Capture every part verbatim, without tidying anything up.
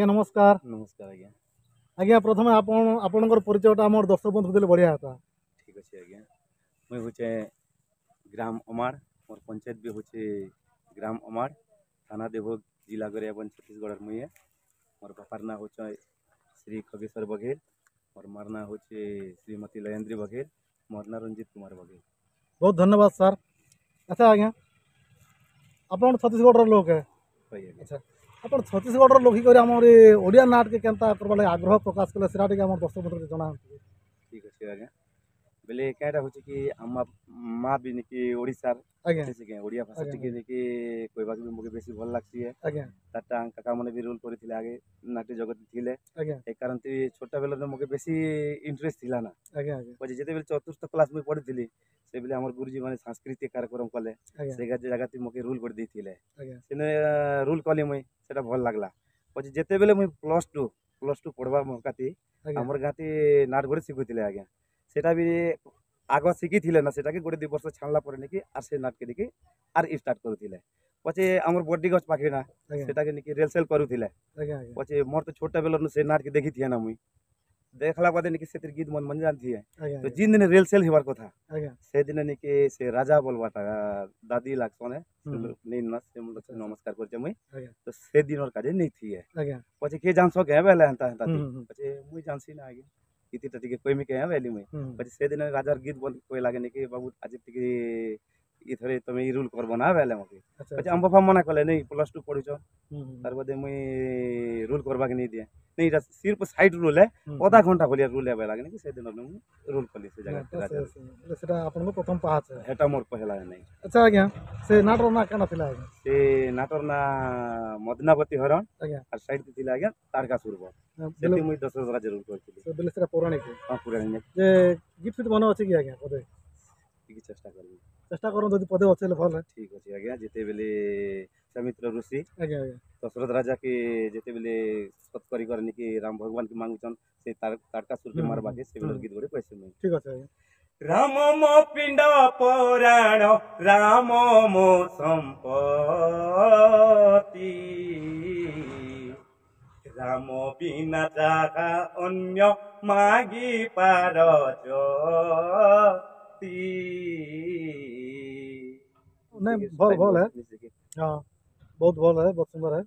ଆଜ୍ଞା ନମସ୍କାର ନମସ୍କାର ଆଜ୍ଞା ଆଜ୍ଞା ପ୍ରଥମେ ଆପଣ ଆପଣଙ୍କର ପରିଚୟଟା ଆମର ଦର୍ଶକ ବନ୍ଧୁ ଦେଲେ ବଢ଼ିଆ ହେତା ଠିକ୍ ଅଛି ଆଜ୍ଞା ମୁଇଁ ହଉଛେ ଗ୍ରାମ ଅମାର ମୋର୍ ପଞ୍ଚାୟତ ବି ହଉଛେ ଗ୍ରାମ ଅମାର ଥାନା ଦେବଭୋଗ ଜିଲ୍ଲା ଗରିଆବନ୍ଦ ଛତିଶଗଡ଼ର ମୁଇଁ ଏ ମୋର୍ ବାପାର ନାଁ ହଉଛେ ଶ୍ରୀ ଖଗେଶ୍ୱର ବଘେଲ ମୋର୍ ମାର ନାଁ ହଉଛେ ଶ୍ରୀମତୀ ଲୟନ୍ଦ୍ରୀ ବଘେଲ ମୋର୍ ନାଁ ରଞ୍ଜିତ କୁମାର ବଘେଲ ବହୁତ ଧନ୍ୟବାଦ ସାର୍ ଆଚ୍ଛା ଆଜ୍ଞା ଆପଣ ଛତିଶଗଡ଼ର ଲୋକ ହେ ହଇ ଆଜ୍ଞା ଆଚ୍ଛା ଆପଣ ଛତିଶଗଡ଼ର ଲୋକ କରି ଆମର ଏ ଓଡ଼ିଆ ନାଟକେ କେନ୍ତା କରବା ଲାଗି ଆଗ୍ରହ ପ୍ରକାଶ କଲେ ସେଟା ଟିକେ ଆମର ଦର୍ଶକ ବନ୍ଧୁকে ଜଣାନ୍ତୁ ଠିକ୍ ଅଛି ଆଜ୍ଞା ବେଲେ କାଁଟା ହଉଛି କି ଆମ ମା ବି ନିକି ଓଡ଼ିଶାର ଆଜ୍ଞା ସେ କି ଓଡ଼ିଆ ଭାଷା ଆଜ୍ଞା, ଟିକେ ନିକି କହିବାକୁ ବି ମୋତେ ବେଶୀ ଭଲ ଲାଗ୍ସି ଆଜ୍ଞା ତାରଟା କାକା ମାନେ ବି ରୋଲ୍ କରିଥିଲେ ଆଗେ ନାଟ୍ୟ ଜଗତ ଥିଲେ ଆଜ୍ଞା ଏ କାରଣ ଛୋଟ ବେଳରେ ମୋତେ ବେଶୀ ଇଣ୍ଟରେଷ୍ଟ ଥିଲା ନା ଆଜ୍ଞା ଆଜ୍ଞା ପଛେ ଯେତେବେଳେ ଚତୁର୍ଥ କ୍ଲାସ୍ ମୁଇଁ ପଢ଼ିଥିଲି ସେବେଲେ ଆମର ଗୁରୁଜୀ ମାନେ ସାଂସ୍କୃତିକ କାର୍ଯ୍ୟକ୍ରମ କଲେ ଆଜ୍ଞା ସେ ଜାଗାତି ମୋତେ ରୋଲ୍ କରି ଦେଇଥିଲେ ଆଜ୍ଞା ସେନେ ରୋଲ୍ କଲି ମୁଇଁ ସେଟା ଭଲ ଲାଗଲା ପଛେ ଯେତେବେଲେ ମୁଇଁ ପ୍ଲସ୍ ଟୁ ପ୍ଲସ୍ ଟୁ ପଢ଼ବା ମୌକାତି ଆଜ୍ଞା ଆମର ଗାଁତି ନାଟ ଗୋଟେ ଶିଖୁଥିଲେ ଆଜ୍ଞା ସେଟା ବି ଆଗ ଶିଖିଥିଲେ ନା ସେଟାକେ ଗୋଟେ ଦୁଇ ବର୍ଷ ଛାଡ଼ଲା ପରେ ନିକି ଆର୍ ସେ ନାଟକେ ନିକି ଆର୍ ଷ୍ଟାର୍ଟ କରୁଥିଲେ ପଛେ ଆମର ବଡି ଗଛ ପାଖେ ନା ଆଜ୍ଞା ସେଟାକେ ନିକି ରିହର୍ସାଲ କରୁଥିଲେ ଆଜ୍ଞା ଆଜ୍ଞା ପଛେ ମୋର ତ ଛୋଟ ବେଲରୁ ସେ ନାଟକେ ଦେଖିଥିଏ ନା ମୁଇଁ ଦେଖଲା ବାଦେ ନିକି ସେଥିରେ ଗୀତ ମନ ମନ ଜାଣିଥିଏ ଆଜ୍ଞା ତ ଜିନ୍ ଦିନ ରିହର୍ସାଲ ହେବାର କଥା ଆଜ୍ଞା ସେଦିନ ନିକି ସେ ରାଜା ବୋଲବାଟା ଦାଦି ଲାଗସନେ ହୁଁ। ନେଇ ନା ସେ ନମସ୍କାର କରୁଛେ ମୁଇଁ ଆଜ୍ଞା ତ ସେ ଦିନର କାଜେ ନେଇ ଆଜ୍ଞା ପଛେ କିଏ ଜାଣସ କେ ବେଲେ ହେନ୍ତା ହେନ୍ତା ହୁଁ ହୁଁ ପଛେ ମୁଇଁ ଜାଣସି ନା ଆଜ୍ଞା ଗୀତିଟା ଟିକେ କହିମି କେ ବେଲି ମୁଇଁ ହୁଁ ପଛେ ସେଦିନ ରାଜାର ଗୀତ ବନ୍ଦ କହିଲା କି ବାବୁ ଆଜି ଟିକେ ଇଥରେ ତମେ ଇ ରୋଲ୍ କରବ ନା ବେଲେ ମକେ ଆଚ୍ଛା ପଛେ ଆମ ବାପା ମନା କଲେ ନାଇଁ ପ୍ଲସ୍ ଟୁ ପଢୁଛ ହୁଁ ହୁଁ ତାର ବାଦେ ମୁଇଁ ରୋଲ୍ କରବାକେ ନେଇ ଦିଏ ନାଇଁ ଏଇଟା ସିର୍ଫ ସାଇଡ୍ ରୋଲ୍ ହେ ହୁଁ, ଅଧା ଘଣ୍ଟା ଭଳିଆ ରୋଲ୍ ହେବା ଲାଗେ କି ସେଦିନ ମୁଁ ରୋଲ୍ କଲି ସେ ଜାଗା ତ ସେ- ସେ- ସେଟା ଆପଣଙ୍କ ପ୍ରଥମ ପାହାଚ ହେଟା ମୋର ପହଲା ନାଇଁ ଆଚ୍ଛା ଆଜ୍ଞା ସେ ନାଟର ନାଁ କାଣା ଥିଲା ଆଜ୍ଞା ସେ ନାଟର ନା ମଦନାବତୀ ହରଣ ଆଜ୍ଞା ଆର୍ ସାଇଡ୍ ଥିଲା ଆଜ୍ଞା ତାରକାସୁର ବଧ ବେଲେ ସେଠି ମୁଇଁ ଦଶରଥ ରାଜ ରୋଲ୍ କରିଥିଲି ସେ ବେଲେ ସେଟା ପୌରାଣିକ ହଁ ପୁରାଣି ଯେ ଗୀତ ଫିଟ୍ ମନେ ଅଛି କି ଆଜ୍ଞା ପଦେ ଟିକେ ଚେଷ୍ଟା କରିବି ଚେଷ୍ଟା କରନ୍ତୁ ଯଦି ପଦେ ଅଛି ହେଲେ ଭଲ ଠିକ୍ ଅଛି ଆଜ୍ଞା ଯେତେବେଲେ ବିଶ୍ୱାମିତ୍ର ଋଷି ଆଜ୍ଞା ଆଜ୍ଞା ଦଶରଥ ରାଜା କେ ଯେତେବେଲେ ସତ କରି କରି ନିକି ରାମ ଭଗବାନ କେ ମାଗୁଛନ୍ ସେ ତାରକାସୁର କେ ହୁଁ, ମାରବାକେ ସେ ବେଲେ ହୁଁ। ଗୀତ ଗୋଟେ କହିସି ମୁଇଁ ଠିକ୍ ଅଛି ଆଜ୍ଞା ରାମ ମୋ ପିଣ୍ଡ ପରାଣ ରାମ ମୋ ସମ୍ପତ୍ତି ରାମ ବିନା ଯାହା ଅନ୍ୟ ମାଗି ପାର ଯଦି ନାଇଁ ଭଲ ଭଲ ହେ ହଁ ବହୁତ ଭଲ ହେ ବହୁତ ସୁନ୍ଦର ହେ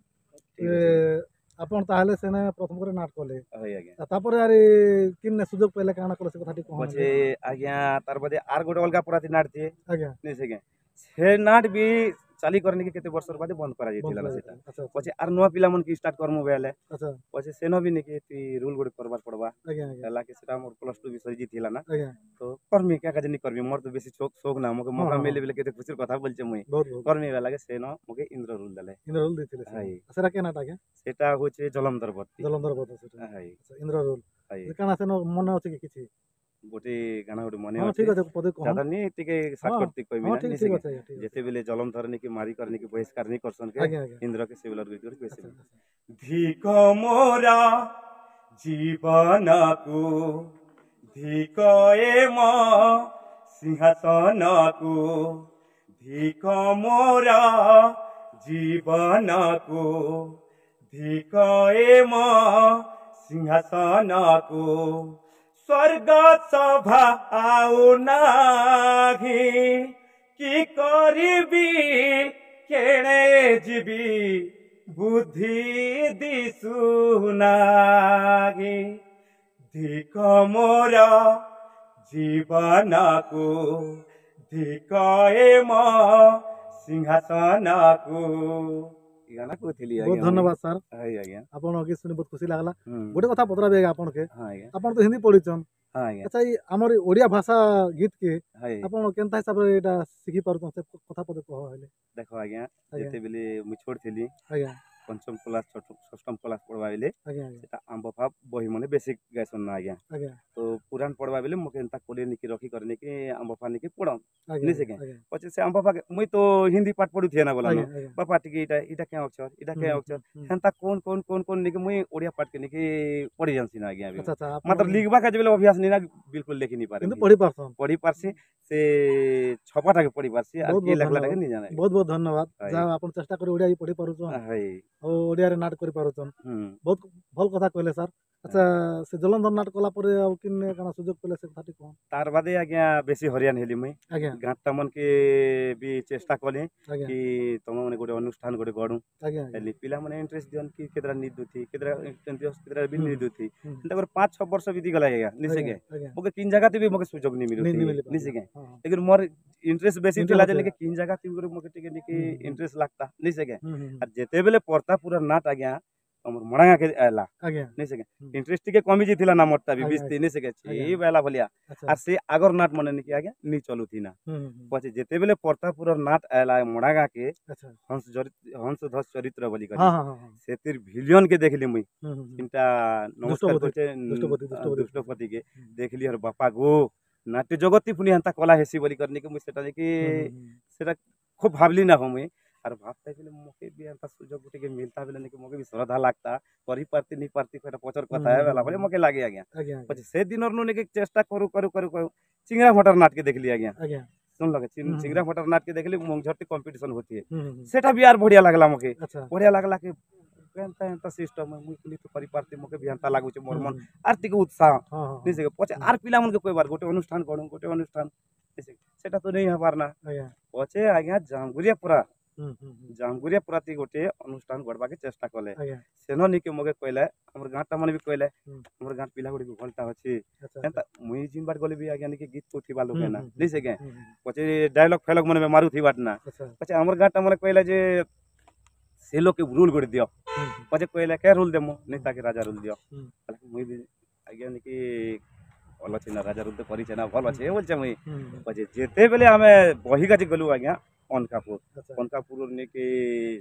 ଏ, ଆପଣ ତାହେଲେ ସେନେ ପ୍ରଥମ କରି ନାଟ କଲେ ହଇ ଆଜ୍ଞା ତାପରେ ଆରେ କିନ୍ ସୁଯୋଗ ପାଇଲେ କାଣା କଲେ ସେ କଥା ଟିକେ କହନ୍ ପଛେ ଆଜ୍ଞା ତାର ବାଦେ ଆର୍ ଗୋଟେ ଅଲଗା ପରାତି ନାଟ ଥି ଆଜ୍ଞା ନାଇଁ ସେ ଆଜ୍ଞା ସେ ନାଟ ବି ଚାଲି କରନି କି କେତେ ବର୍ଷର ବାଦେ ବନ୍ଦ କରାଯାଇଥିଲା ନା ସେଟା ଆଚ୍ଛା ପଛେ ଆର୍ ନୂଆ ପିଲାମାନକେ ଷ୍ଟାର୍ଟ କରମୁ ବେଲେ ଆଚ୍ଛା ପଛେ ସେନ ବି ନିକି ତୁଇ ରୋଲ୍ ଗୋଟେ କରବାର ପଡ଼ବା ଆଜ୍ଞା ଆଜ୍ଞା ହେଲା କି ସେଟା ମୋର ପ୍ଲସ୍ ଟୁ ବି ସରିଯାଇଥିଲା ନା ଆଜ୍ଞା ତ କରମି କାଁ କାଜେ ନି କରମି ମୋର ତ ବେଶୀ ଶୋକ ଶୋକ ନା ମୋକେ ମୌକା ହଁ, ହଁ। ମିଲେ ବେଲେ କେତେ ଖୁସିର କଥା ବୋଲଛେ ମୁଇଁ ବହୁତ ବହୁତ କରମି ବେଲା କେ ସେନ ମୋକେ ଇନ୍ଦ୍ର ରୋଲ୍ ଦେଲେ ଇନ୍ଦ୍ର ରୋଲ ଦେଇଥିଲେ ସେ। ହାଇ ସେଟା କେ ନାଟ ଆଜ୍ଞା ସେଟା ହଉଛେ ଜଲନ୍ଧର ବତ୍ତି ଜଲନ୍ଧର ବଧ ସେଟା ହାଇ ଆଚ୍ଛା, ଇନ୍ଦ୍ର ରୋଲ ହାଇ କାଣା ସେନ ମନେ ଅଛି କି କିଛି ଗୋଟେ ଗାନା ଗୋଟେ ମନେ ହଁ ଅଛି ଠିକ ଅଛି ପଦେ କହନ୍ ଜାଦା ନି ଟିକେ ସର୍ଟକଟ ତି କହିବି ହଁ ନା ଠିକ ନି ଠିକ ସେ ଅଛି ଆଜ୍ଞା ଠିକ ଅଛି ଯେତେବେଲେ ଜଲନ୍ଧର ନିକି ମାରି କରି ନିକି ବହିଷ୍କାର ନି କରସନ୍ କେ ଆଜ୍ଞା ଆଜ୍ଞା ଇନ୍ଦ୍ର କେ ସେ ବେଲର ଗୀତ କରି ଆଚ୍ଛା କହିସି ଆଚ୍ଛା ଧିକ ମୋର ଜୀବନକୁ ଧିକ ଏ ମୋ ସିଂହାସନକୁ ଧିକ ମୋର ଜୀବନକୁ ଧିକ ଏ ମୋ ସିଂହାସନକୁ ସ୍ୱର୍ଗ ସଭା ଆଉ ନାହିଁ କି କରିବି କେଣେ ଯିବି ବୁଦ୍ଧି ଦିଶୁନାହି ଧିକ ମୋର ଜୀବନକୁ ଧିକ ଏ ମୋ ସିଂହାସନକୁ ଇ ଗାନା କହୁଥିଲି ବହୁତ ଧନ୍ୟବାଦ ସାର୍ ଆଜ୍ଞା ଆଜ୍ଞା ଆପଣ ଗୀତ ଶୁଣି ବହୁତ ଖୁସି ଲାଗଲା ହୁଁ। ଗୋଟେ କଥା ପଚରାବି ଆଜ୍ଞା ଆପଣକେ ହଁ ଆଜ୍ଞା ଆପଣ ତ ହିନ୍ଦୀ ପଢିଛନ୍ ହଁ ଆଜ୍ଞା ଆଚ୍ଛା ଏଇ ଆମର ଏଇ ଓଡ଼ିଆ ଭାଷା ଗୀତ କେ ହଇ ଆପଣ କେନ୍ତା ହିସାବରେ ଏଇଟା ଶିଖି ପାରୁଛନ୍ ସେ କଥା ପଦେ କହ ହେଲେ ଦେଖ ଆଜ୍ଞା ଆଜ୍ଞା ଯେତେବେଲେ ମୁଇଁ ଛୋଟ ଥିଲି ଆଜ୍ଞା ପଞ୍ଚମ କ୍ଲାସ୍ ଷଷ୍ଠମ କ୍ଲାସ୍ ପଢ଼ବା ବେଲେ ଆଜ୍ଞା ଆଜ୍ଞା ସେଟା ଆମ୍ବ ଫା ବହି ମାନେ ବେଶୀ ଗାଇସନ୍ ନା ଆଜ୍ଞା ଆଜ୍ଞା ତ ପୁରାଣ ପଢ଼ବା ବେଲେ ମୋତେ ଏନ୍ତା କୋଲେ ନିକି ରଖି କରି ନିକି ଆମ୍ବ ଫା ନିକି ପଢ଼ନ୍ ଆଜ୍ଞା ନି ସେ ଆଜ୍ଞା ପଛେ ସେ ଆମ୍ବ ଫା ମୁଇଁ ତ ହିନ୍ଦୀ ପାଠ ପଢୁଥିଏ ନା ବୋଲା ଆଜ୍ଞା ଆଜ୍ଞା ବାପା ଟିକେ ଇଟା ଇଟା କେଁ ଅକ୍ଷର ଇଟା କେଁ ହୁଁ, ଅକ୍ଷର ହୁଁ, ହୁଁ। ହେନ୍ତା କୋନ୍ କୋନ୍ କୋନ୍ କୋନ୍ ନିକି ମୁଇଁ ଓଡ଼ିଆ ପାଠ କେ ନିକି ପଢ଼ି ଜାନସି ନା ଆଜ୍ଞା ଆଚ୍ଛା ଆଚ୍ଛା ଆପଣ ମାତ୍ର ଲିଖବା କାଜେ ବେଲେ ଅଭ୍ୟାସ ନି ନା ବିଲକୁଲ ଲେଖି ନି ପାରେ କିନ୍ତୁ ପଢି ପାରସନ୍ ପଢ଼ି ପାରସି ସେ ଛପାଟାକେ ପଢ଼ି ପାରସି ଆର୍ ବହୁତ କିଏ ବହୁତ ଲେଖଲାଟାକେ ଧନ୍ୟବାଦ ନି ଜାନେ ବହୁତ ବହୁତ ଧନ୍ୟବାଦ ହଇ। ଯାହା ଆପଣ ଚେଷ୍ଟା କରି ଓଡ଼ିଆ ବି ପଢି ପାରୁଛନ୍ ହଇ ଆଉ ଓଡ଼ିଆରେ ନାଟ କରିପାରୁଛନ୍। ବହୁତ ଭଲ କଥା କହିଲେ ସାର୍। ଆଚ୍ଛା, ସେ ଜଲନ୍ଧର ନାଟ କଲା ପରେ ଆଉ କିନେ କାଣା ସୁଯୋଗ ପାଇଲେ, ସେ କଥା ଟିକେ କହନ୍। ତାର ବାଦେ ଆଜ୍ଞା ବେଶୀ ହଇରାଣ ହେଲି ମୁଇଁ। ଆଜ୍ଞା ଗାଁଟା ମନକେ ବି ଚେଷ୍ଟା କଲି ଆଜ୍ଞା କି ତମ ମାନେ ଗୋଟେ ଅନୁଷ୍ଠାନ ଗୋଟେ ଗଢୁ। ଆଜ୍ଞା ହେଲି ପିଲାମାନେ ଇଣ୍ଟରେଷ୍ଟ ଦିଅନ୍ କି କେତେଟା ନି ଦଉଥି, କେତେଟା ଇଣ୍ଟରେଷ୍ଟ, କେତେଟା ବି ହୁଁ। ନି ଦଉଥି। ହୁଁ। ଏନ୍ତା କରି ପାଞ୍ଚ ଛଅ ବର୍ଷ ବିତି ଗଲା ଆଜ୍ଞା, ନିଶେ। ଆଜ୍ଞା ମୋକେ ତିନ୍ ଜାଗା ବି ମୋକେ ସୁଯୋଗ ନି ନି ମିଲୁଥି। ନି ମିଲି। ନିଶେ। ହଁ ହଁ ଲେକିନ୍ ମୋର ଇଣ୍ଟରେଷ୍ଟ ବେଶୀ ଥିଲା ଯେ ଇଣ୍ଟରେଷ୍ଟ। ନାକି କିନ୍ ଜାଗା ଥି ଗୋଟେ ମୋକେ ଟିକେ ନିକି ହୁଁ, ହୁଁ। ଇଣ୍ଟରେଷ୍ଟ ଲାଗତା ନିଶେ। ହୁଁ ହୁଁ ଆର ଯେତେବେଲେ ପ୍ରତାପପୁର ନାଟ ଆଜ୍ଞା ଆମର ମଣାଗାକେ ଆଇଲା, ଆଜ୍ଞା ନିଶେ, ହୁଁ। ଇଣ୍ଟରେଷ୍ଟ ଟିକେ କମି ଯାଇଥିଲା ନା ମୋରଟା ବି ଆଜ୍ଞା, ବିସ୍ତି ନିଶେ। ଆଜ୍ଞା। ଛି ବେଲା ଭଳିଆ। ଆଚ୍ଛା ଆର ସେ আগର ନାଟ ମାନେ ନିକି ଆଜ୍ଞା ନି ଚଲୁଥି ନା। ହୁଁ ହୁଁ ହୁଁ ପଛେ ଯେତେବେଲେ ପ୍ରତାପପୁର ନାଟ ଆଇଲା ମଣାଗାକେ, ଆଚ୍ଛା ହଂସ ଚରିତ୍ର, ହଂସ ଧ୍ୱଜ ଚରିତ୍ର ବୋଲି କରି, ହଁ ହଁ ହଁ ହଁ ସେଥିର ଭିଲିୟନ କେ ଦେଖିଲି ମୁଇଁ। ହୁଁ ହୁଁ ହୁଁ ତିନଟା ନମସ୍କାର ଦୁଷ୍ଟପତି, କରୁଛେ। ଦୁଷ୍ଟପତି, ଦୁଷ୍ଟପତି। ଦୁଷ୍ଟପତି କେ ଦେଖିଲି, ଆର ବାପା ଗୋ, ନାଟ୍ୟ ଜଗତି ପୁଣି ହେନ୍ତା କଲା ହେସି ବୋଲି କରିନି କି ମୁଇଁ ସେଟା ଯାଇକି ହୁଁ ହୁଁ ହୁଁ ସେଟା ଖୁବ୍ ଭାବଲି ନା ହୋ ମୁଇଁ। ଆର ଭାବତା ବେଲେ ମକେ ବି ଏନ୍ତା ସୁଯୋଗ ଟିକେ ମିଲତା ବେଲେ ନାକି ମକେ ବି ଶ୍ରଦ୍ଧା ଲାଗତା, କରି ପାରତି ନି ପାରତି ସେଟା ପଛର କଥା ହୁଁ, ହେ ବେଲା ହୁଁ, ବୋଲି ହୁଁ। ମକେ ଲାଗେ ଆଜ୍ଞା। ଆଜ୍ଞା ଆଜ୍ଞା ପଛେ ସେ ଦିନର ନୁ ନାକି ଚେଷ୍ଟା କରୁ କରୁ କରୁ କରୁ ଚିଙ୍ଗରା ଭଟର ନାଟକେ ଦେଖିଲି ଆଜ୍ଞା। ଆଜ୍ଞା ଶୁଣଲ ହୁଁ, ହୁଁ। ଚିଙ୍ଗରା ଭଟର ନାଟକେ ଦେଖିଲି, ମଙ୍ଗଝରଟି କମ୍ପିଟିସନ होती ହୁଁ ହୁଁ ହୁଁ ସେଟା ବି ଆର ବଢିଆ ଲାଗଲା ମକେ। ଆଚ୍ଛା ବଢିଆ ଲାଗଲା କି ଏନ୍ତା ଏନ୍ତା ସିଷ୍ଟମ ମୁଇଁ ପୁଣି ତ କରିପାରତି, ମକେ ବି ଏନ୍ତା ଲାଗୁছে ମୋର ହୁଁ, ମନ ହୁଁ। ଆର ଟିକେ ଉତ୍ସାହ ହଁ ହଁ ହଁ ନିଶେ। ପଛେ ଆର ପିଲାମାନକେ କହିବାର ଗୋଟେ ଅନୁଷ୍ଠାନ ଗଢୁ, ଗୋଟେ ଅନୁଷ୍ଠାନ ନିଶେ, ସେଟା ତ ନେଇ ହେବାର ନା। ଆଜ୍ଞା ପଛେ ଆଜ୍ଞା ଜାମଗୁରିଆ ପୁରା ହୁଁ ହୁଁ ହୁଁ ଜାମଗୁରିଆ ପୁରାତି ଗୋଟେ ଅନୁଷ୍ଠାନ ଗଢବାକେ ଚେଷ୍ଟା କଲେ। ଆଜ୍ଞା ସେନ ନିକେ ମକେ କହିଲେ, ଆମର ଗାଁଟା ମାନେ ବି କହିଲେ, ହୁଁ। ଆମର ଗାଁ ପିଲା ଗୁଡ଼ି ବି ଭଲଟା ଅଛି। ଆଚ୍ଛା ଏନ୍ତା ମୁଇଁ ଜିନବାର ଗଲେ ବି ଆଜ୍ଞା ନିକେ ଗୀତ କହୁଥିବା ଲୋକେ ହୁଁ, ନା ହୁଁ, ହୁଁ। ନିଶେ କେ। ହୁଁ, ହୁଁ, ପଛେ ଡାଇଲଗ ଫାଇଲଗ ମାନେ ବି ମାରୁଥିବାର ନା। ଆଚ୍ଛା ପଛେ ଆମର ଗାଁଟା ମାନେ କହିଲେ ଯେ ସେ ଲୋକେ ରୁଲ ଗୋଟେ ଦିଅ। ହୁଁ ହୁଁ ପଛେ କହିଲେ କେ ରୁଲ ଦେମୁ? ନାଇଁ, ତାକେ ରାଜା ରୁଲ ଦିଅ। ହୁଁ। ମୁଇଁ ବି ଆଜ୍ଞା ନିକି ଭଲ ଅଛି ନା, ରାଜା ରୁଲ ତ କରିଛେ ନା, ଭଲ ଅଛି ବୋଲଛେ ମୁଇଁ। ହୁଁ ହୁଁ ପଛେ ଯେତେବେଲେ ଆମେ ବହିଗାଜି ଗଲୁ ଆଜ୍ଞା ଅନକାପୁର, ଆଚ୍ଛା ଅନକାପୁର ନେଇକି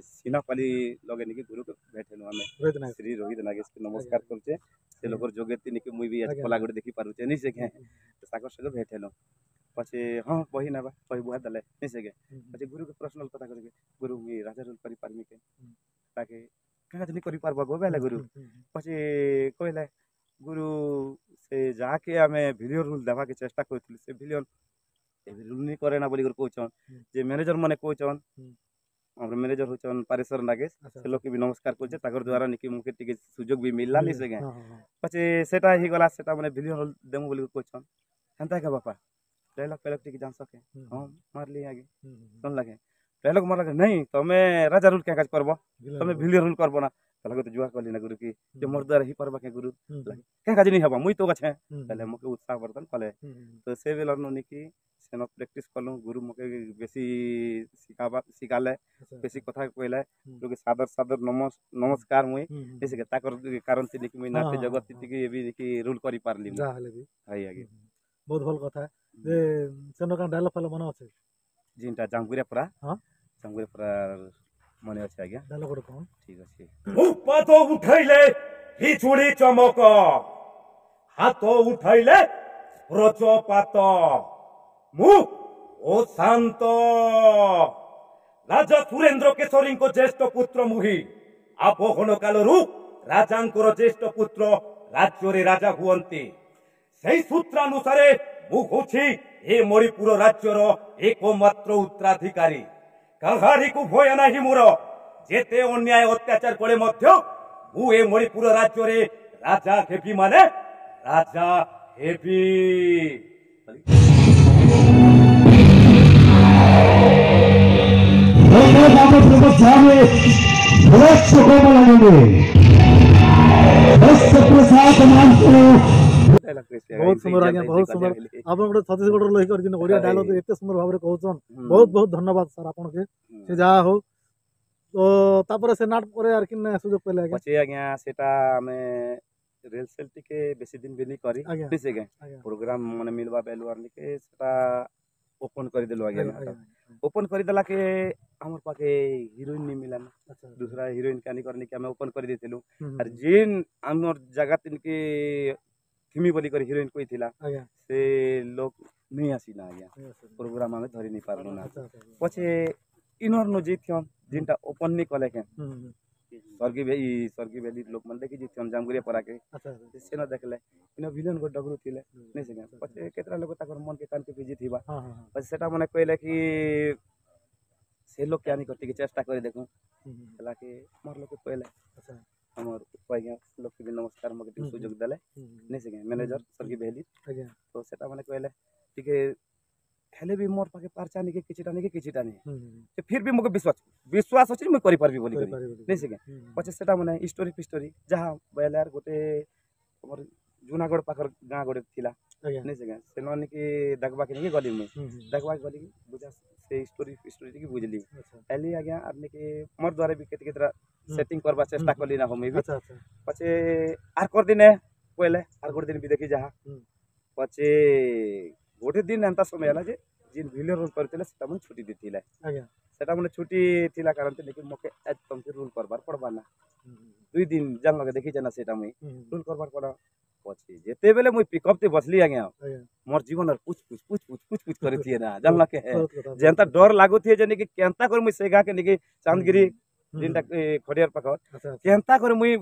ସିନାପାଲି ଲଗେ ନେଇକି ଗୁରୁକୁ ଭେଟିଲୁ ଆମେ। ରୋହିତ ନାୟକ। ଶ୍ରୀ ରୋହିତ ନାଗେଶ ନମସ୍କାର କରୁଛେ। ସେ ଲୋକର ଯୋଗ୍ୟତି ନେଇକି ମୁଇଁ ବି ଆଜି ଆଜ୍ଞା। କଲା ଗୋଟେ ଦେଖି ପାରୁଛେ ନି ସେ। ତାଙ୍କର ସହିତ ଭେଟ ହେଲୁ। ପଛେ ହଁ ବହି ନେବା, ବହି ବୁହା ଦେଲେ ନି ସେ। ହୁଁ, ପଛେ ଗୁରୁକେ ପ୍ରଶ୍ନ କଥା କରିକି, ଗୁରୁ ମୁଇଁ ରାଜା ରୋଲ କରିପାରମି କେ? ହୁଁ। ତାକେ କାଁ ନି କରିପାରବ ଗୋ ବେଲେ ଗୁରୁ। ହୁଁ, ହୁଁ, ହୁଁ, ପଛେ କହିଲେ ଗୁରୁ, ସେ ଯାହାକେ ଆମେ ଭିଲିୟନ ରୋଲ ଦେବାକେ ଚେଷ୍ଟା କରୁଥିଲୁ, ସେ ଭିଲିୟନ ଏବେ ରୋଲ ନି କରେ ନା ବୋଲିକରି କହୁଛନ୍। ହୁଁ। ଯେ ମ୍ୟାନେଜର ମାନେ କହୁଛନ୍, ହୁଁ। ଆମର ମ୍ୟାନେଜର ହଉଛନ୍ ପାରେଶ୍ୱର ନାଗେଶ। ଆଚ୍ଛା ସେ ଲୋକକେ ବି ନମସ୍କାର କରୁଛେ। ତାଙ୍କର ଦ୍ୱାରା ନିକି ମୁକେ ଟିକେ ସୁଯୋଗ ବି ମିଲଲା ନି ସେ। ହଁ ହଁ ହଁ ପଛେ ସେଟା ହେଇଗଲା, ସେଟା ମାନେ ଭିଲିୟନ ରୋଲ ଦେମୁ ବୋଲି କହୁଛନ୍। ହେନ୍ତା କେ ବାପା, ଡାଇଲଗ ଫାଇଲଗ ଟିକେ ଜାଣସ କେ? ହୁଁ, ହଁ, ମାରଲି ଆଗେ। ହୁଁ, ହୁଁ, ହୁଁ। ଶୁଣଲା କେ ଡାଇଲଗ ମାରଲା କେ ନାଇଁ, ତମେ ରାଜା ରୋଲ କେଁ କାଜ କରବ, ଭିଲିୟନ ତମେ ରୋଲ। ଭିଲିୟନ ରୋଲ କରବ ନା। ତାହେଲେ ତ ଜୁହାର କଲି ନା ଗୁରୁ କି ଯେ ହୁଁ, ମୋର ଦ୍ୱାରା ହେଇପାରବା କେ ଗୁରୁ? ହୁଁ, ହୁଁ, କେଁ କାଜ ନି ହେବା, ମୁଇଁ ତ ଅଛେ। ହୁଁ, ତାହେଲେ ମକେ ଉତ୍ସାହ ବର୍ଦ୍ଧନ କଲେ। ହୁଁ, ହୁଁ, ତ ସେ ବେଲର ନିକି ସେନ ପ୍ରାକ୍ଟିସ କଲୁ। ଗୁରୁ ମକେ ବେଶୀ ଶିଖାବା ଶିଖାଲେ, ଆଚ୍ଛା ବେଶୀ କଥା କହିଲେ। ହୁଁ। ଲୋକେ ସାଦର ସାଦର ନମସ୍ ନମସ୍କାର ମୁଇଁ। ହୁଁ, ହୁଁ, ବେଶୀ ତାଙ୍କର କାରଣ ଥିଲି କି ମୁଇଁ ହଁ, ନାଟ୍ୟ ହଁ, ଜଗତ ହଁ। ଟିକେ ବି ନିକି ରୋଲ କରିପାରିଲି ମୁଁ। ଯାହା ହେଲେ ବି। ହାଇ ଆଜ୍ଞା। ହୁଁ, ହୁଁ। ବହୁତ ଭଲ କଥା ଯେ ସେନ କାଁ ଡାଇଲଗ ଫାଇଲଗ ମନେ ଅଛି? ଯେନ୍ଟା ଜାମଗୁରିଆ ପରା? ହଁ। ଜାମଗୁରିଆ ପରା ମନେ ଅଛି ଆଜ୍ଞା। ଡାଇଲଗ ଗୋଟେ କଣ? ଠିକ ଅଛି। ପାଦ ଉଠାଇଲେ ବିଜୁଳି ଚମକ, ହାତ ଉଠାଇଲେ ବ୍ରଜପାତ, ମୁଁ ଅଶାନ୍ତ। ରାଜା ସୁରେନ୍ଦ୍ର କେଶରୀଙ୍କ ଜ୍ୟେଷ୍ଠ ପୁତ୍ର ମୁହି। ଆବହନ କାଳରୁ ରାଜାଙ୍କର ଜ୍ୟେଷ୍ଠ ପୁତ୍ର ରାଜ୍ୟରେ ରାଜା ହୁଅନ୍ତି। ସେଇ ସୂତ୍ରାନୁସାରେ ମୁଁ ହଉଛି ଏ ମଣିପୁର ରାଜ୍ୟର ଏକମାତ୍ର ଉତ୍ତରାଧିକାରୀ। କାହାରିକୁ ଭୟ ନାହିଁ ମୋର। ଯେତେ ଅନ୍ୟାୟ ଅତ୍ୟାଚାର କଲେ ମଧ୍ୟ ମୁଁ ଏ ମଣିପୁର ରାଜ୍ୟରେ ରାଜା ହେବି, ମାନେ ରାଜା ହେବି। ବହୁତ ସୁନ୍ଦର ଆଜ୍ଞା, ବହୁତ ସୁନ୍ଦର। ଆପଣ ଗୋଟେ ଛତିଶଗଡ଼ରୁ ଲୋକ କରି ଓଡ଼ିଆ ଡାଇଲଗ ଏତେ ସୁନ୍ଦର ଭାବରେ କହୁଛନ୍, ବହୁତ ବହୁତ ଧନ୍ୟବାଦ ସାର୍ ଆପଣকে। ସେ ଯାହା ହଉ, ତ ତାପରେ ସେ ନାଟ ପରେ ଆର କିନେ ସୁଯୋଗ ପାଇଲେ ଆଜ୍ଞା? ପଛେ ଆଜ୍ଞା ସେଟା ଆମେ ରିହର୍ସାଲ ଟିକେ ବେଶୀ ଦିନ ବି ନି କରି ଆଜ୍ଞା ବୁଝେ ଆଜ୍ଞା, ଆଜ୍ଞା ପ୍ରୋଗ୍ରାମ ମାନେ ମିଲବା ବେଲୁଆର ନିକେ ସେଟା ଓପନ କରିଦେଲୁ ଆଜ୍ଞା। ଆଜ୍ଞା ଆଜ୍ଞା ଓପନ କରିଦେଲା କେ ଆମର ପାଖେ ହିରୋଇନ ନି ମିଲାନ। ଆଚ୍ଛା ଦୁସରା ହିରୋଇନ କାନି କରନି କି ଆମେ ଓପନ କରିଦେଇଥିଲୁ। ହୁଁ, ହୁଁ, ଆର ଯେନ୍ ଆମର ଜାଗା ତିନକେ ଥିମି ବୋଲି କରି ହିରୋଇନ କହିଥିଲା, ଆଜ୍ଞା ସେ ଲୋକ ନେଇ ଆସିନା ଆଜ୍ଞା। ଆଜ୍ଞା ପ୍ରୋଗ୍ରାମ ଆମେ ଧରି ନି ପାରଲୁ ନା। ଆଚ୍ଛା ଆଚ୍ଛା ପଛେ ଇନର ନୁ ଜିତନ୍ ଯେନ୍ଟା ଓପନ ନି କଲେ କେଁ, ହୁଁ ହୁଁ ସ୍ୱର୍ଗୀ ଭେ ସ୍ୱର୍ଗୀ ଭ୍ୟାଲି ଲୋକମାନେ ଦେଖି ଜିତନ୍ ଜାମଗୁରିଆ ପରାକେ। ଆଚ୍ଛା ଆଚ୍ଛା ସେନ ଦେଖିଲେ ଇନ ଭିଲିୟନ ଗୋଟେ ଡଗରୁ ଥିଲେ ନାଇଁ ସେ। ଆଚ୍ଛା, ପଛେ କେତେଟା ଲୋକ ତାଙ୍କର ମନକେ କାନକେ ଭିଜିଥିବା। ହଁ ହଁ ହଁ ପଛେ ସେଟା ମାନେ କହିଲେ କି ସେ ଲୋକକେ ଆନିକରି ଟିକେ ଚେଷ୍ଟା କରି ଦେଖୁଁ ହେଲା କି ମୋର ଲୋକେ କହିଲେ ଆଚ୍ଛା ଆମର ଆଜ୍ଞା ଲୋକକେ ବି ନମସ୍କାର ମକେ ଟିକେ ହୁଁ, ସୁଯୋଗ ଦେଲେ ହୁଁ, ହୁଁ, ନାଇଁ ସେ ମ୍ୟାନେଜର ସର୍ଗୀ ବେହେଲି ଆଜ୍ଞା ତ ସେଟା ମାନେ କହିଲେ ଟିକେ ହେଲେ ବି ମୋର୍ ପାଖେ ପାର୍ଚା ନିକେ କିଛିଟା ନିକେ କିଛିଟା ନି ହୁଁ, ହୁଁ, ସେ ଫିର୍ ବି ମୋକେ ବିଶ୍ୱାସ ବିଶ୍ୱାସ ଅଛି ମୁଇଁ କରିପାରିବି ବୋଲି କରି କରିପାରିବି ନାଇଁ ସେ ହୁଁ, ହୁଁ, ପଛେ ସେଟା ମାନେ ଷ୍ଟୋରି ଫିଷ୍ଟୋରି ଯାହା ବୋଇଲେ ଆର୍ ଗୋଟେ ଆମର ଜୁନାଗଡ଼ ପାଖର ଗାଁ ଗୋଟେ ଥିଲା ଆଜ୍ଞା ନାଇଁ ସେ ଗାଁ ସେନ ନିକି ଦେଖବାକେ ନିକି ଗଲି ମୁଇଁ ହୁଁ, ହୁଁ, ଦେଖବାକେ ଗଲି ବୁଝା ସେ ଷ୍ଟୋରି ଫିଷ୍ଟୋରି ଟିକେ ବୁଝଲି ଆଚ୍ଛା ହେଲି ଆଜ୍ଞା ଆର୍ ନିକି ମୋର୍ ଦ୍ୱାରା ବି କେତେ କେତେଟା ହୁଁ। ସେଟିଂ କରବା ଚେଷ୍ଟା ହୁଁ, କଲି ନା ମୁଇଁ ବି ଆଚ୍ଛା ଆଚ୍ଛା ପଛେ ଆର୍ କରିଦିନେ କହିଲେ ଆର୍ ଗୋଟେ ଦିନ ବି ଦେଖି ଯାହା ହୁଁ। ପଛେ ଗୋଟେ ଦିନ ଏନ୍ତା ସମୟ ହେଲା ଯେ ଯେନ୍ ଭିଲେନ ରୋଲ୍ କରିଥିଲେ ସେଟା ମାନେ ଛୁଟି ଦେଇଥିଲେ ଆଜ୍ଞା ସେଟା ମାନେ ଛୁଟି ଥିଲା କାରଣ ଲେକିନ୍ ମକେ ଆଜ୍ ତମକେ ରୋଲ୍ କରବାର୍ ପଡ଼ବା ନା ହୁଁ, ହୁଁ, ଦୁଇ ଦିନ ଜାନଲକେ ଦେଖିଛେ ନା ସେଟା ମୁଇଁ ହୁଁ, ହୁଁ, ରୋଲ୍ କରବାର୍ ପଡ଼ ପଛେ ଯେତେବେଲେ ମୁଇଁ ପିକଅପ୍ ତେ ବସଲି ଆଜ୍ଞା ଆଜ୍ଞା ମୋର୍ ଜୀବନର ପୁଚ୍ ପୁଚ୍ ପୁଚ୍ ପୁଚ୍ ପୁଚ୍ ପୁଚ୍ କରିଥିଏ ନା ଜାନଲକେ ବହୁତ କଥା ଯେନ୍ତା ଡର ଲାଗୁଥିଏ ଯେ ନିକି କେନ୍ତା କରି ମୁଇଁ ସେ ଗାଁକେ ନିକି ଚାନ୍ଦଗିରି ହୁଁ, ଯେନ୍ଟା ଖଡ଼ିଆର ପାଖ ଆଚ୍ଛା ଆଚ୍ଛା କେନ୍ତା କରି ମୁଇଁ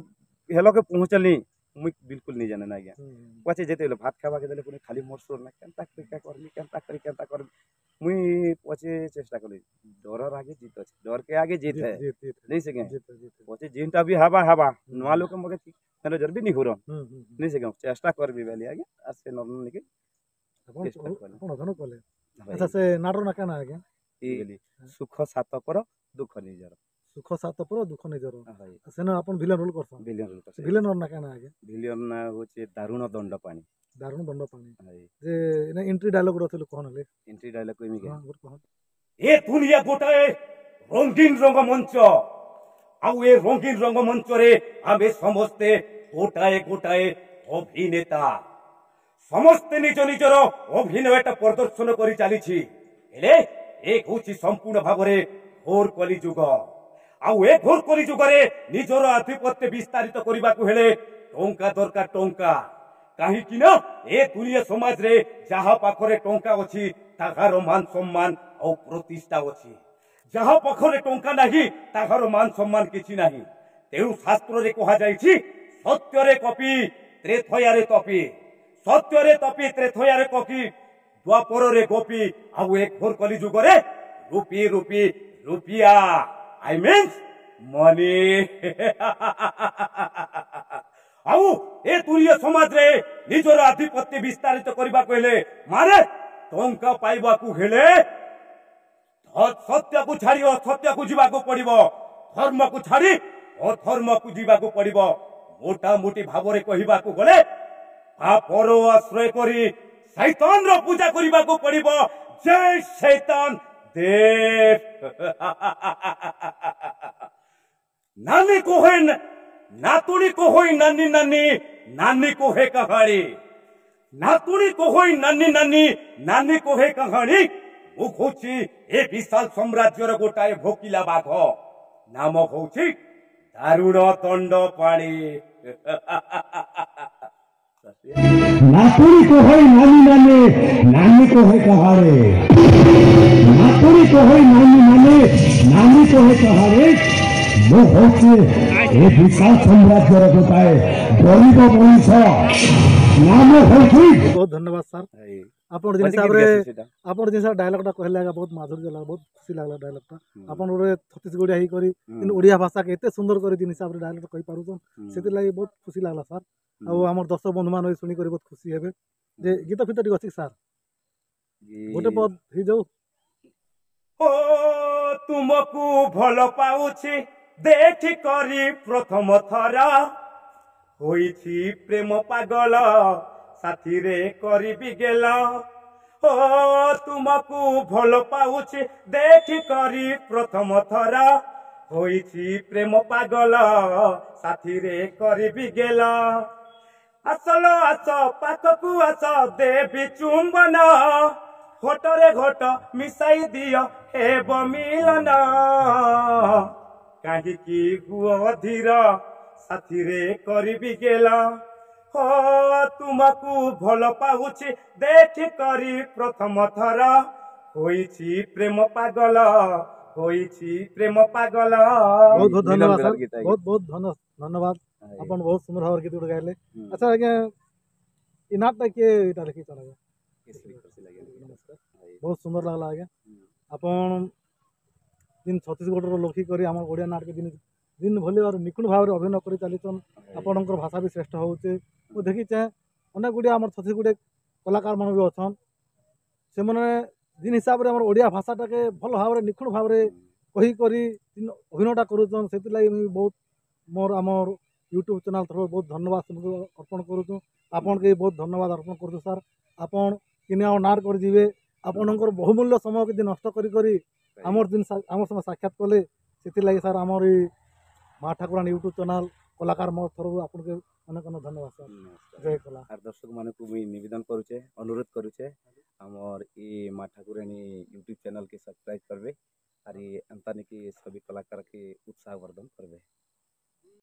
ହେଲକେ ପହଞ୍ଚଲି ମୁଇଁ ବିଲକୁଲ ନି ଜାନେ ନା ଆଜ୍ଞା ହୁଁ, ହୁଁ, ପଛେ ଯେତେବେଲେ ଭାତ ଖାଇବାକେ ଦେଲେ ପୁଣି ଖାଲି ମୋର୍ ସୋର୍ ନା କେନ୍ତା କରି କା କରମି କେନ୍ତା କରି କେନ୍ତା କରମି ମୁଇଁ ପଛେ ଚେଷ୍ଟା କଲି ଡରର ଆଗେ ଜିତ୍ ଅଛି ଡରକେ ଆଗେ ଜିତ୍ ହେ ଜିତ୍ ଜିତ୍ ଜିତ୍ ନାଇଁ ସେ କେଁ ଜିତ୍ ଜିତ୍ ପଛେ ଯେନ୍ଟା ବି ହେବା ହେବା ନୂଆ ଲୋକ ମକେ ମ୍ୟାନେଜର ବି ନି ହୁରନ୍ ହୁଁ ହୁଁ ହୁଁ ନାଇଁ ସେ କେଁ ଚେଷ୍ଟା କରବି ବେଲି ଆଜ୍ଞା ଆର୍ ସେ ନିକି ଆପଣ ଚେଷ୍ଟା କଲି ଆପଣ ଅଭିନୟ କଲେ ଆଚ୍ଛା ସେ ନାଟର ନା କାଣା ଆଜ୍ଞା ଇ ସୁଖ ସାତ ପର ଦୁଃଖ ନିଜର ସୁଖ ସାତ ପର ଦୁଃଖ ନିଜର ହଇ ସେନ ଆପଣ ଭିଲେନ ରୋଲ କରସନ୍ ଭିଲିୟନ ରୋଲ କରସି ଭିଲେନ ନା କାଣା ଆଜ୍ଞା ଭିଲିୟନ ନା ହଉଛି ଦାରୁଣ ଦଣ୍ଡ ପାଣି ଦାରୁଣ ଦଣ୍ଡ ପାଣି ହଇ ଯେ ଏନେ ଏଣ୍ଟ୍ରି ଡାୟଲଗ ଗୋଟେ ଅଛି କହନ୍ ହେଲେ ଏଣ୍ଟ୍ରି ଡାଇଲଗ କହିମି କେ ହଁ ଗୋଟେ କହନ୍ ଏ ଦୁନିଆ ଗୋଟାଏ ରଙ୍ଗୀନ ରଙ୍ଗମଞ୍ଚ ଆଉ ଏ ରଙ୍ଗୀନ ରଙ୍ଗମଞ୍ଚରେ ଆମେ ସମସ୍ତେ ଗୋଟାଏ ଗୋଟାଏ ଅଭିନେତା ସମସ୍ତେ ନିଜ ନିଜର ଅଭିନୟଟା ପ୍ରଦର୍ଶନ କରି ଚାଲିଛି ହେଲେ ଏ ହଉଛି ସମ୍ପୂର୍ଣ୍ଣ ଭାବରେ ଘୋର କଲି ଯୁଗ ଆଉ ଏ ଘୋର କଲି ଯୁଗରେ ନିଜର ଆଧିପତ୍ୟ ବିସ୍ତାରିତ କରିବାକୁ ହେଲେ ଟଙ୍କା ଦରକାର ଟଙ୍କା କାହିଁକି ନା ଏ ଦୁନିଆ ସମାଜରେ ଯାହା ପାଖରେ ଟଙ୍କା ଅଛି ତାହାର ମାନ ସମ୍ମାନ ଆଉ ପ୍ରତିଷ୍ଠା ଅଛି ଯାହା ପାଖରେ ଟଙ୍କା ନାହିଁ ତାହାର ମାନ ସମ୍ମାନ କିଛି ନାହିଁ ତେଣୁ ଶାସ୍ତ୍ରରେ କୁହାଯାଇଛି ସତ୍ୟରେ କପି ତ୍ରେତୟାରେ ତପି ସତ୍ୟରେ ତପି ତ୍ରେତୟାରେ କପି ଦ୍ୱାପରରେ ଗୋପୀ ଆଉ ଏ ଘୋର କଲି ଯୁଗରେ ରୁପି ରୁପି ରୁପିଆ I means money ଆଉ ଏ ଦୁନିଆ ସମାଜରେ ନିଜର ଆଧିପତ୍ୟ ବିସ୍ତାରିତ କରିବାକୁ ହେଲେ ମାନେ ଟଙ୍କା ପାଇବାକୁ ହେଲେ ସତ୍ୟକୁ ଛାଡି ଅସତ୍ୟକୁ ଯିବାକୁ ପଡିବ ଧର୍ମକୁ ଛାଡି ଅଧର୍ମକୁ ଯିବାକୁ ପଡିବ ମୋଟାମୋଟି ଭାବରେ କହିବାକୁ ଗଲେ ପାପର ଆଶ୍ରୟ କରି ଶୈତାନର ପୂଜା କରିବାକୁ ପଡିବ ଜୟ ଶୈତାନ ଦେବ ନାନୀ କୋହେ ନାତୁଣୀ କୋହଇ ନାନୀ ନାନୀ ନାନୀ କୋହେ କାହାଣୀ ନାତୁଣୀ କୋହଇ ନାନୀ ନାନୀ ନାନୀ କୋହେ କାହାଣୀ ମୁଁ ହଉଛି ଏ ବିଶାଳ ସାମ୍ରାଜ୍ୟର ଗୋଟାଏ ଭୋକିଲା ବାଘ ନାମ ହଉଛି ଦାରୁଣ ଦଣ୍ଡ ପାଣି ନାତୁଣୀ କହଇ ନାନୀ ନାନୀ ନାନୀ କହେ କାହାରେ ନାତୁଣୀ କହଇ ନାନୀ ନାନୀ ନାନୀ କହେ କାହାରେ ମୁଁ ହଉଛି ଏ ବିଶାଳ ସାମ୍ରାଜ୍ୟର ଗୋଟାଏ ଗରିବ ମଣିଷ ନାମ ହଉଛି ବହୁତ ଧନ୍ୟବାଦ ସାର୍ ହଇ ଆପଣ ଜିନିଷ ଗୀତ ହିସାବରେ ଗାଇସି ସେଟା ଆପଣ ଜିନିଷ ଡାୟଲଗଟା କହିଲେ ଆଜ୍ଞା ବହୁତ ମାଧୁର୍ଯ୍ୟ ଲାଗଲା ବହୁତ ଖୁସି ଲାଗଲା ଡାୟଲଗଟା ହୁଁ, ଆପଣ ଗୋଟେ ଛତିଶଗଡ଼ିଆ ହେଇକରି ହୁଁ, କିନ୍ତୁ ଓଡ଼ିଆ ଭାଷାକେ ଏତେ ସୁନ୍ଦର କରି ଜିନିଷ ହିସାବରେ ଡାୟଲଗ କହିପାରୁଛନ୍ ହୁଁ, ସେଥିର୍ଲାଗି ବହୁତ ଖୁସି ଲାଗଲା ସାର୍ ହୁଁ। ଆଉ ଆମର ଦର୍ଶକ ବନ୍ଧୁମାନେ ବି ଶୁଣିକରି ବହୁତ ଖୁସି ହେବେ ଯେ ଗୀତ ଫିତ ଟିକେ ଅଛି ସାର୍ ଗୋଟେ ପଦ ହେଇଯାଉ ଓ ତୁମକୁ ଭଲ ପାଉଛି ଦେଖି କରି ପ୍ରଥମ ଥର ହୋଇଛି ପ୍ରେମ ପାଗଳ ସାଥିରେ କରିବି ଗେଲ ଓ ତୁମକୁ ଭଲ ପାଉଛି ଦେଖି କରି ପ୍ରଥମ ଥର ହୋଇଛି ପ୍ରେମ ପାଗଳ ସାଥିରେ କରିବି ଗେଲ ଆସଲ ଆସ ପାଖକୁ ଆସ ଦେବି ଚୁମ୍ବନ ଘଟରେ ଘଟ ମିଶାଇ ଦିଅ ହେବ ମିଲନ କାହିଁକି ହୁଅ ଧୀର ସାଥିରେ କରିବି ଗେଲ ହୋ ତୁମକୁ ଭଲ ପାଉଛି ଦେଖି କରି ପ୍ରଥମ ଥର ହୋଇଛି ପ୍ରେମ ପାଗଳ ହୋଇଛି ପ୍ରେମ ପାଗଳ ବହୁତ ବହୁତ ମିଲନ ଧନ୍ୟବାଦ ବେଲାର ସାର୍ ଗୀତ ଆଜ୍ଞା। ବହୁତ ବହୁତ ଧନ୍ୟ ଧନ୍ୟବାଦ ହଇ। ଆପଣ ବହୁତ ସୁନ୍ଦର ଭାବରେ ଗୀତ ଗୋଟେ ଗାଇଲେ ହୁଁ। ଆଚ୍ଛା ଆଜ୍ଞା ଏ ନାଟଟା କିଏ ଏଇଟା ଲେଖିଛନ୍ ଆଜ୍ଞା କେଶରୀ ଖୁସି ଲାଗିଲା। ନମସ୍କାର ହଇ। ବହୁତ ସୁନ୍ଦର ଲାଗଲା ଆଜ୍ଞା ହୁଁ। ଆପଣ ଯେନ୍ ଛତିଶଗଡ଼ର ଲୋକ କରି ଆମର ଓଡ଼ିଆ ନାଟକେ ଦିନ ଦିନ ଭଲି ଆର୍ ନିଖୁଣ ଭାବରେ ଅଭିନୟ କରି ଚାଲିଛନ୍। ଆପଣଙ୍କର ଭାଷା ବି ଶ୍ରେଷ୍ଠ ହଉଛେ। ମୁଁ ଦେଖିଛେଁ, ଅନେକ ଗୁଡ଼ିଏ ଆମର ଛତିଶଗଡ଼ କଳାକାର ମାନେ ବି ଅଛନ୍, ସେମାନେ ଯେନ୍ ହିସାବରେ ଆମର ଓଡ଼ିଆ ଭାଷାଟାକେ ଭଲ ଭାବରେ ନିଖୁଣ ଭାବରେ କହିକରି ଯେନ୍ ଅଭିନୟଟା କରୁଛନ୍, ସେଥିର୍ଲାଗି ମୁଇଁ ବହୁତ ମୋର୍ ଆମର୍ ୟୁଟ୍ୟୁବ୍ ଚ୍ୟାନେଲ୍ ତରଫରୁ ବହୁତ ଧନ୍ୟବାଦ ସେମାନଙ୍କୁ ଅର୍ପଣ କରୁଛୁଁ। ଆପଣକେ ବି ବହୁତ ଧନ୍ୟବାଦ ଅର୍ପଣ କରୁଛୁ ସାର୍। ଆପଣ କିନି ଆମ ନାଟ କରିଯିବେ, ଆପଣଙ୍କର ବହୁମୂଲ୍ୟ ସମୟକେ ଯେ ନଷ୍ଟ କରି କରି ଆମର୍ ଦିନ ଆମର୍ ସାଙ୍ଗେ ସାକ୍ଷାତ କଲେ, ସେଥିର୍ଲାଗି ସାର୍ ଆମର୍ ଏଇ ମା ଠାକୁରାଣୀ ୟୁଟ୍ୟୁବ୍ ଚ୍ୟାନେଲ୍ କଳାକାର ମୋ ତରଫରୁ ଆପଣଙ୍କୁ ଅନେକ ଅନେକ ଧନ୍ୟବାଦ ସାର୍। ନମସ୍କାର। ଜୟ କଲା। ଆର୍ ଦର୍ଶକ ମାନଙ୍କୁ ମୁଇଁ ନିବେଦନ କରୁଛେ, ଅନୁରୋଧ କରୁଛେ, ଆମର ଇ ମା ଠାକୁରାଣୀ ୟୁଟ୍ୟୁବ୍ ଚ୍ୟାନେଲ୍ କେ ସବସ୍କ୍ରାଇବ୍ କରବେ ଆର୍ ଇ ଏନ୍ତା ନିକି ସବି କଳାକାର କେ ଉତ୍ସାହ ବର୍ଦ୍ଧନ କରବେ।